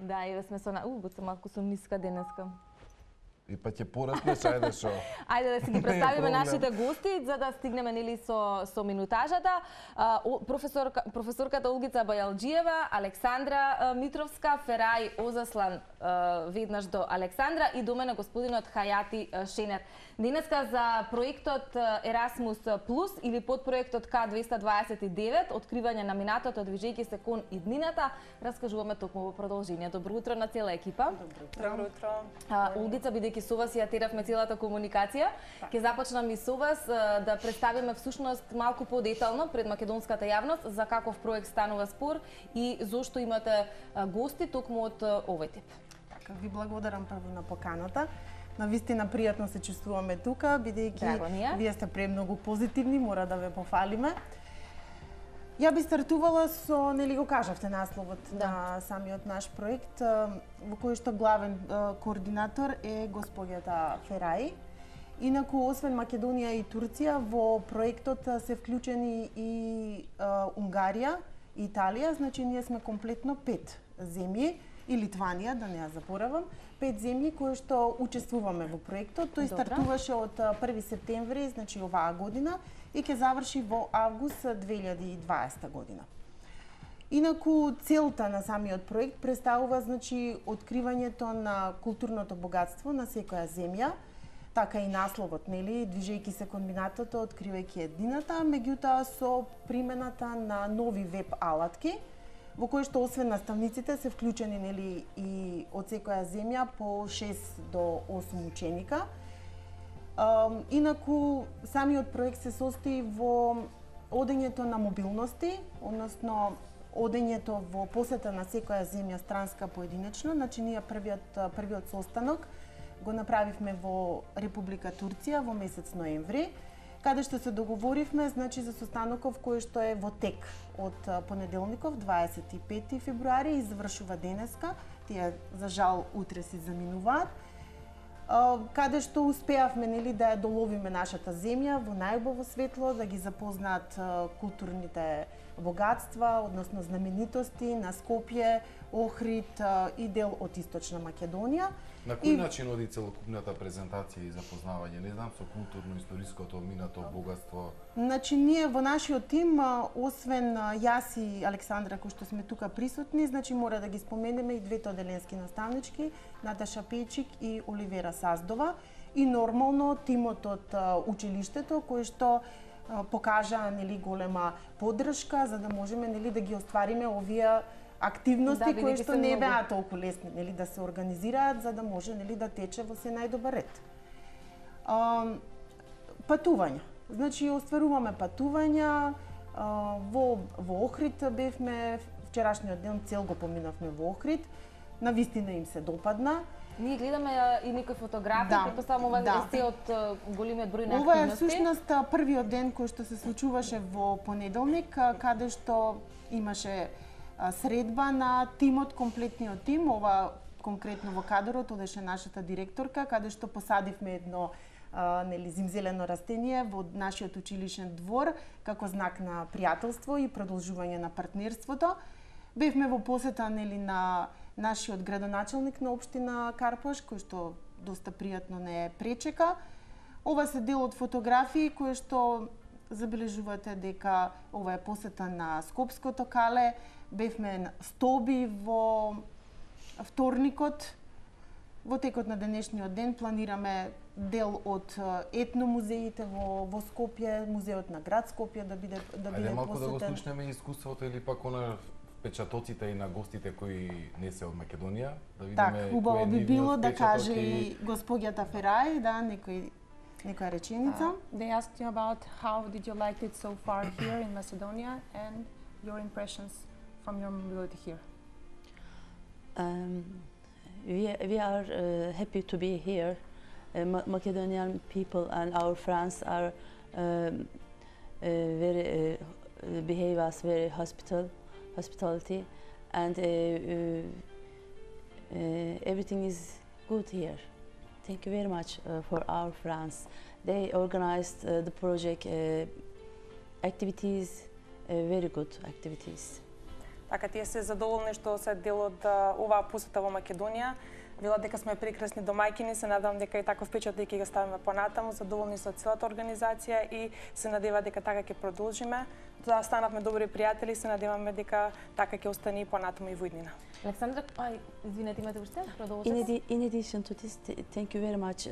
Да, еве сме со малку сум ниска денеска. И па ќе пораснеш, ајде шо. Ајде да си ги представиме нашите гости за да стигнеме нели со минутажата. Професорката Олгица Бајалџиева, Александра Митровска, Ферај Озаслан веднаш до Александра и до мене господинот Хајати Шенер. Денеска за проектот Ерасмус Плюс или подпроектот К229, откривање на минатото движејќи се кон иднината, раскажуваме токму во продолжение. Добро утро на цела екипа. Добро утро. Олгица, бидејќи со вас ја теравме целата комуникација, ќе започнам и со вас да представиме всушност малку подетално пред македонската јавност за каков проект станува спор и зошто имате гости токму од овој тип. Така, ви благодарам прво на поканата. Навистина пријатно се чувствуваме тука, бидејќи вие сте премногу позитивни, мора да ве пофалиме. Ја би стартувала со, нели го кажавте насловот на самиот наш проект, во кој што главен координатор е госпоѓата Ферај. Инаку, освен Македонија и Турција, во проектот се вклучени и Унгарија и Италија, значи ние сме комплетно 5 земји, и Литванија, да не ја заборавам, 5 земји кои што учествуваме во проектот. Тој стартуваше од 1 септември, значи оваа година, и ќе заврши во август 2020 година. Инаку, целта на самиот проект представува, значи, откривањето на културното богатство на секоја земја, така и насловот, нели, движејќи се кон минатото, откривајќи едината, меѓутоа со примената на нови веб алатки, во кој што освен наставниците се вклучени, нели, и од секоја земја по 6 до 8 ученика. Инаку, самиот проект се состои во одењето на мобилности, односно одењето во посета на секоја земја странска поединечно. Значи, ние првиот состанок го направивме во Република Турција во месец ноември, каде што се договоривме, значи, за состаноков кој што е во тек од понеделников, 25 февруари, и завршува денеска. Тие, за жал, утре си заминуваат. Каде што успеавме, нели, да ја доловиме нашата земја во најубаво светло, да ги запознаат културните богатства, односно знаменитости на Скопје, Охрид и дел од Источна Македонија. На кој начин оди целокупната презентација и запознавање? Не знам, со културно-историското минато богатство. Значи, ние во нашиот тим, освен јас и Александра, кои што сме тука присутни, значи мора да ги споменеме и двете оделенски наставнички, Наташа Пејчик и Оливера Саздова, и нормално тимот од училиштето, кој што покажа, нели, голема поддршка за да можеме, нели, да ги оствариме овие активности кои што не беа толку лесни, нели, да се организираат за да може, нели, да тече во се најдобар ред. Патувања. Значи, остваруваме патувања во Охрид бевме вчерашниот ден цел го поминавме во Охрид. Навистина им се допадна. Ние гледаме и некои фотографии, претпоставам ова е од големиот број на активности. Ова е всушност првиот ден кој што се случуваше во понеделник, каде што имаше средба на тимот, комплетниот тим. Ова конкретно во кадрот одеше нашата директорка, каде што посадивме едно нели, зимзелено растение во нашиот училишен двор како знак на пријателство и продолжување на партнерството. Бевме во посета, нели, на нашиот градоначелник на општина Карпош, кој што доста пријатно не пречека. Ова се дел од фотографии кои што забележувате дека ова е посета на Скопското кале. Бевме столби во вторникот. Во текот на денешниот ден планираме дел од етномузеите во Скопје, музеот на град Скопје да биде посетен. Ајде малку да го слушнеме искуството или пак она впечатоците и на гостите кои не се од Македонија, да видиме. Так, убаво би било да каже и госпоѓата Ферај, да, некоја реченица. They asked you about how did you like it so far here in Macedonia and your impressions from your mobility here. We are happy to be here. Macedonian people and our friends are very behave us very hospitality, and everything is good here. Thank you very much for our friends. They organized the project activities, very good activities. Така тие се задоволни што се дел од оваа посета во Македонија. Велат дека сме прекрасни домаќини, се надевам дека и таков печат ќе го ставиме понатаму, задоволни со целата организација и се надева дека така ќе продолжиме. Да станавме добри пријатели, се надеваме дека така ќе остане и понатаму и во иднина. Александра, извинете, имате уште? In addition to this, thank you very much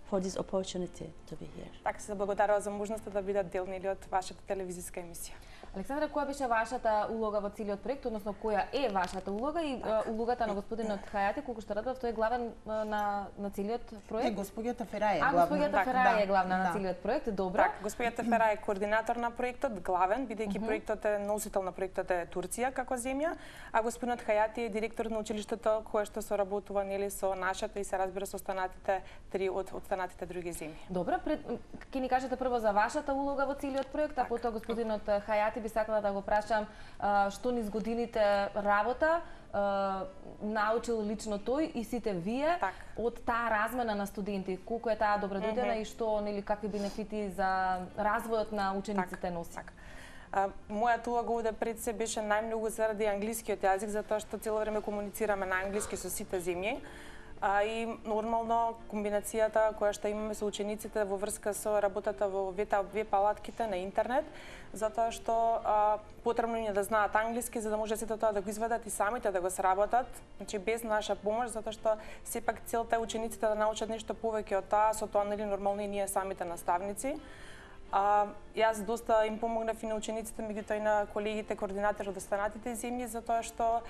for this opportunity to be here. Така се благодарува за можноста да бидат делни од вашата телевизиска емисија. Александра, која беше вашата улога во целиот проект, односно која е вашата улога и улогата на господинот Хајати, колку што радев, тој е главен на целиот проект? Госпоѓата Ферај е главна. Госпоѓата Ферај е главна на целиот проект, добро. Так, госпоѓата Ферај е координатор на проектот, главен, бидејќи проектот е носител на проектот е Турција како земја, а господинот Хајати е директор на училиштето кое што соработува нели со нашата и се разбира со останатите три од останатите други земји. Добро, ќе ни кажете прво за вашата улога во целиот проект, а потоа господинот Хајати би сакала да го прашам што низ годините работа научил лично тој и сите вие од таа размена на студенти, колку е таа добродојдена и што нели какви бенефити за развојот на учениците носи. Мојата улога овде пред се беше најмногу заради англискиот јазик, затоа што цело време комуницираме на англиски со сите земји. И нормално комбинацијата која што имаме со учениците во врска со работата во веб алатките на интернет, затоа што потребно им е да знаат англиски за да може сето тоа да го извадат и самите да го сработат, значи без наша помош, затоа што сепак целта е учениците да научат нешто повеќе од таа, со тоа нели нормално и ние самите наставници. Јас доста им помогнав и на учениците, меѓутоа и на колегите координатори од останатите земји, затоа што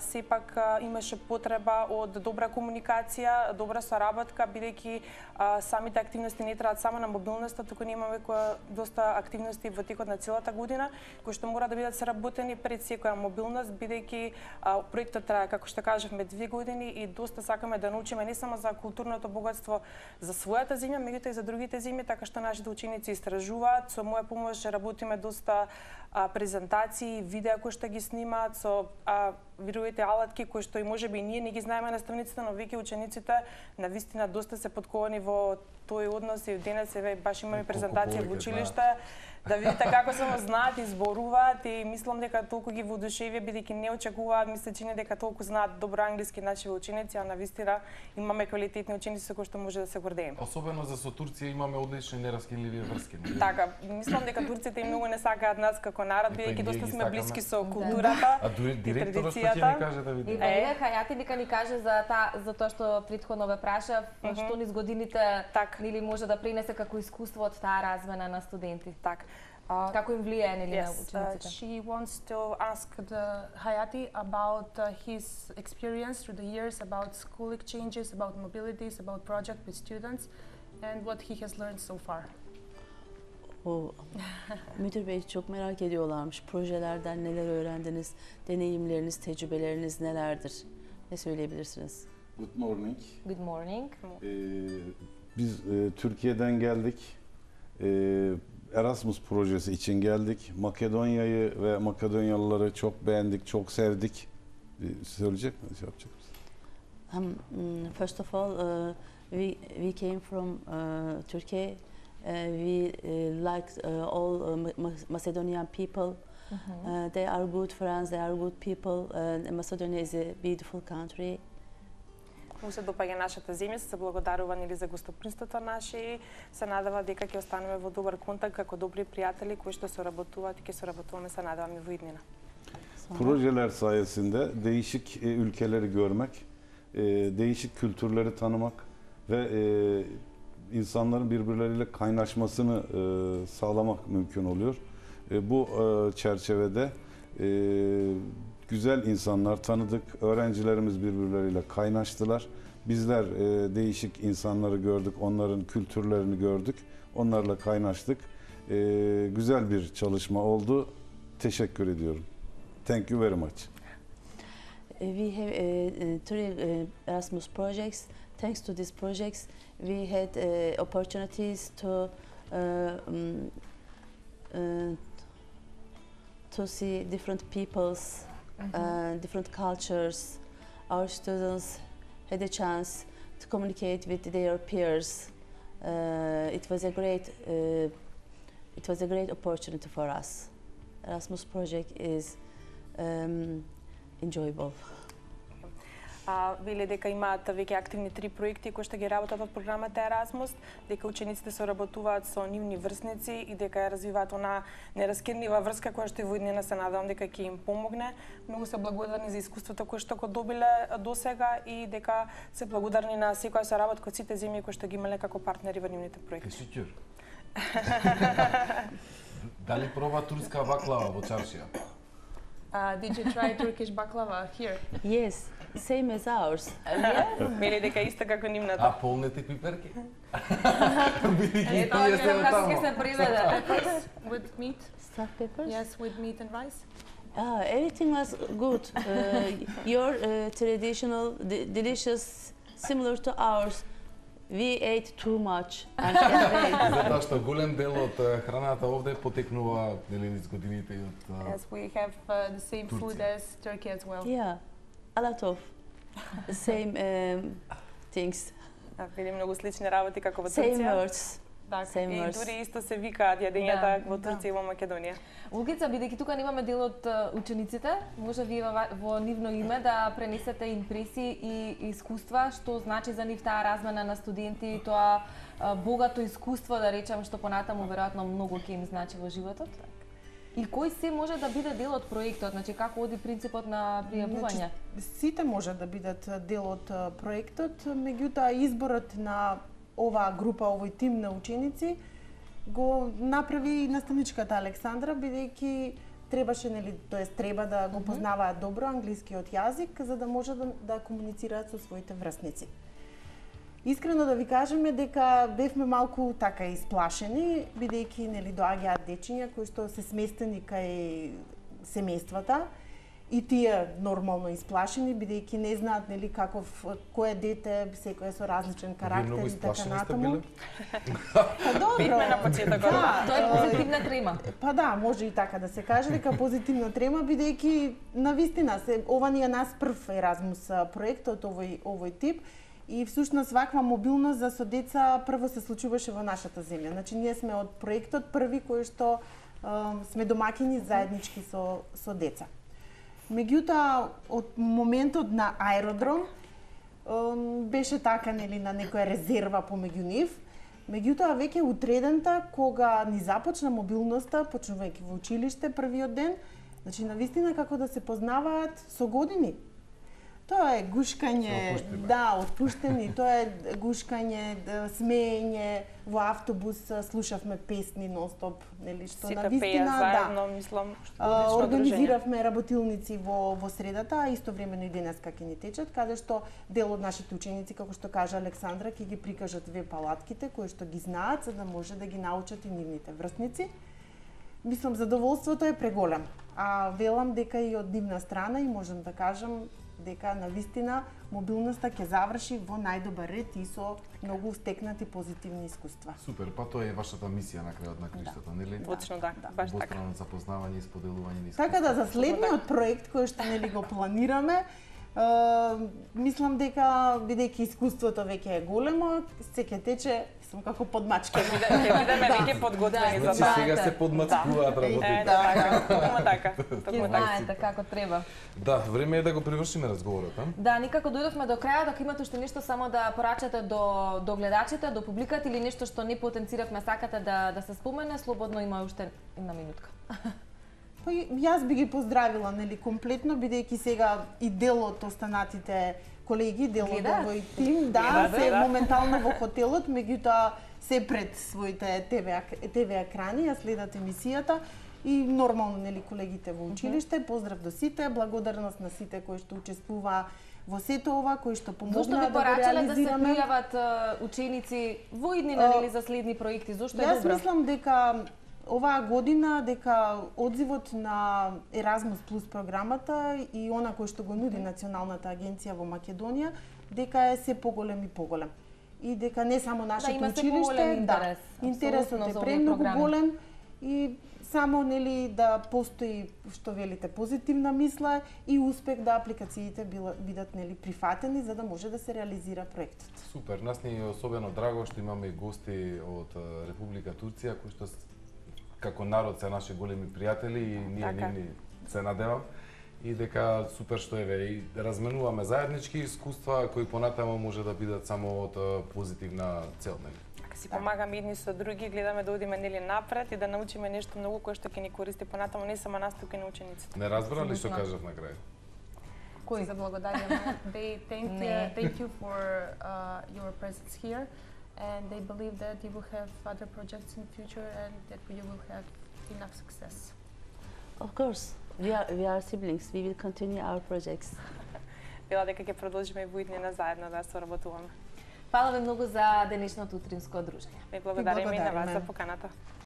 сепак имаше потреба од добра комуникација, добра соработка, бидејќи самите активности не траат само на мобилноста, туку ние имаме доста активности во текот на целата година, кои што мора да бидат сработени пред секоја мобилност, бидејќи проектот трае, како што кажавме, 2 години и доста сакаме да научиме не само за културното богатство за својата земја, меѓутоа и за другите земји, така што нашите ученици истражуваат. Со моја помош работиме доста презентации, видеа кои што ги снимаат со видовите алатки кои што и можеби ние не ги знаеме на страницата, но веќе учениците навистина доста се подковани во тој однос и денес баш имаме презентација во училиште, да видите како само знаат и зборуваат и мислам дека толку ги воодушевија бидејќи не очекуваат, ми се чини дека толку знаат добро англиски наши ученици, а навистина имаме квалитетни ученици со кои што може да се гордееме. Особено за со Турција имаме одлични нераскинливи врски. Така, мислам дека турците и многу не сакаат нас како народ, бидејќи доста сме блиски со културата и традицијата. Ќе ни каже да види. И Веле Хајати дека ни каже за тоа што претходно ве прашав, што низ годините нели може да пренесе како искуство од таа размена на студенти. Так. Како им влијае нели на учениците? She wants to ask the Hayati about his experience through the years, about school exchanges, about mobilities, about project with students and what he has learned so far. Müdür Bey çok merak ediyorlarmış. Projelerden neler öğrendiniz? Deneyimleriniz, tecrübeleriniz nelerdir? Ne söyleyebilirsiniz? Good morning. Good morning. Biz Türkiye'den geldik. Erasmus projesi için geldik. Makedonya'yı ve Makedonyalıları çok beğendik, çok sevdik. Söyleyecek mi? Şey yapacak mısın? First of all, we came from Turkey. We liked all Macedonian people. They are good friends, they are good people. Macedonia is a beautiful country. Му се допаѓа нашата земја, се благодарува нели за гостопримството наше и се надава дека ќе останеме во добар контакт како добри пријатели кои што соработуваат и ќе соработуваме се надаваме во иднина. Projeler sayesinde değişik ülkeleri görmek, değişik kültürleri tanımak ve insanların birbirleriyle kaynaşmasını sağlamak mümkün oluyor. Bu çerçevede güzel insanlar tanıdık, öğrencilerimiz birbirleriyle kaynaştılar. Bizler değişik insanları gördük, onların kültürlerini gördük, onlarla kaynaştık. Güzel bir çalışma oldu. Teşekkür ediyorum. Thank you very much. We have 3 Erasmus projects. Thanks to these projects, we had opportunities to see different peoples, different cultures. Our students had a chance to communicate with their peers. It was a great opportunity for us. Erasmus project is enjoyable. Веле дека имаат веќе активни 3 проекти кои што ги работат од програмата Еразмус, дека учениците соработуваат со нивни врсници и дека ја развиваат она нераскинлива врска која што и во иднина се надевам дека ќе им помогне. Многу се благодарни за искуството кое што го добиле досега и дека се благодарни на секоја соработка од сите земји кои што ги имале како партнери во нивните проекти. Тешичур. Дали проба турска баклава во чаршија? Did you try Turkish baklava here? Yes, same as ours. Мели дека исто како нивната. А полнете пиперки? Ето, како ќе се приведе. With meat? Stuffed peppers? Yes, with meat and rice. Everything was good. Your traditional, delicious, similar to ours. We ate too much. Затоа што голем дел од храната овде потекнува низ годините и од Yes, we have the same food as Turkey as well. Yeah, a lot of the same things. Види многу слични работи како во Same Турција. words. Same И words. дури исто се викаат јадењата во Турција и во Македонија. Олгица, бидејќи тука немаме дел од учениците, може вие во нивно име да пренесете импресии и искуства, што значи за нив таа размена на студенти, тоа богато искуство, да речем, што понатаму веројатно многу ќе им значи во животот. И кој се може да биде дел од проектот, значи како оди принципот на пријавување? Сите може да бидат дел од проектот, меѓутоа изборот на оваа група, овој тим на ученици го направи наставничката Александра, бидејќи требаше, нели, тоест треба да го познаваат добро англискиот јазик за да може да комуницираат со своите врсници. Искрено да ви кажеме дека бевме малку така исплашени, бидејќи, нели, доаѓаат дечиња кои што се сместени кај семејствата и тие нормално исплашени, бидејќи не знаат, нели, кое дете, секој е со различен карактер и така натаму. Бевме на почетокот. Тоа е позитивна трема. Па да, може и така да се каже, дека позитивна трема, бидејќи навистина ова ни е нас прв Еразмус проектот овој тип. И всушност ваква мобилност за со деца прво се случуваше во нашата земја. Значи ние сме од проектот први кои што сме домакини заеднички со деца. Меѓутоа од моментот на аеродром беше така, нели, на некоја резерва помеѓу нив. Меѓутоа веќе утредента кога ни започна мобилноста, почнувајќи во училиште првиот ден, значи навистина како да се познаваат со години. Тоа е гушкање, да, отпуштени, тоа е гушкање, смеење, во автобус слушавме песни нон-стоп, нели, што навистина, заедно, мислам, организиравме работилници во средата, а истовремено и денеска ќе ни течат, каде што дел од нашите ученици, како што кажа Александра, ќе ги прикажат веб палатките кои што ги знаат, за да може да ги научат и нивните врсници. Мислам, задоволството е преголемо, а велам дека и од нивна страна и можам да кажам дека навистина мобилноста ќе заврши во најдобар ред и со многу стекнати позитивни искуства. Супер, па тоа е вашата мисија на крајот на криштата, нели? Точно да, баш така. Обостранно запознавање и споделување на искуства. Така да за следниот проект кој што нели го планираме, мислам дека бидејќи искуството веќе е големо, се ќе тече сум како подмачка. Ќе бидеме веќе подготвени за тоа. тоа. Сега се подмачкуваат работите. Токму така. Ќе знаете како треба. Да, време е да го привршиме разговорот, а? Да, никако дојдовме до крајот, ако имате уште нешто само да порачате до гледачите, до публиката или нешто што не потенциравме, сакате да се спомене, слободно има уште една минутка. Па јас би ги поздравила, нели, комплетно, бидејќи сега и дел од останатите колеги, дел од овој тим, да, се моментално во хотелот, меѓутоа се пред своите ТВ екрани, ја следат емисијата и нормално, нели, колегите во училиште. Поздрав до сите, благодарност на сите кои што учествуваа во сето ова, кои што помогнаа да го реализираме. Зошто ви порачале да се пријават ученици во иднина, нели, за следни проекти? Зошто е добро? Јас мислам дека оваа година дека одзивот на Еразмус Плюс програмата и она кој што го нуди Националната агенција во Македонија, дека е се поголем и поголем. И дека не само нашето училиште, интересот е премногу голем и само, нели, да постои, што велите, позитивна мисла и успех да апликациите бидат, нели, прифатени за да може да се реализира проектот. Супер, нас ни е особено драго што имаме гости од Република Турција кои што како народ се наши големи пријатели и ние нивни се надевам. и дека супер што еве и разменуваме заеднички искуства кои понатаму може да бидат само од позитивна цел, нели? Ако си помагаме едни со други, гледаме да одиме нели напред и да научиме нешто многу кое што ќе ни користи понатаму, не само нас, туку и на учениците. Не разбра ли што кажав на крај? Кој за благодарување? They thank you for your presence here, and they believe that you will have other projects in the future and that you will have enough success. Of course, we are siblings. We will continue our projects. Била дека ќе продолжиме и во иднина заедно да соработуваме. Фала ви многу за денешното утринско дружење. Ми благодариме и на вас за поканата.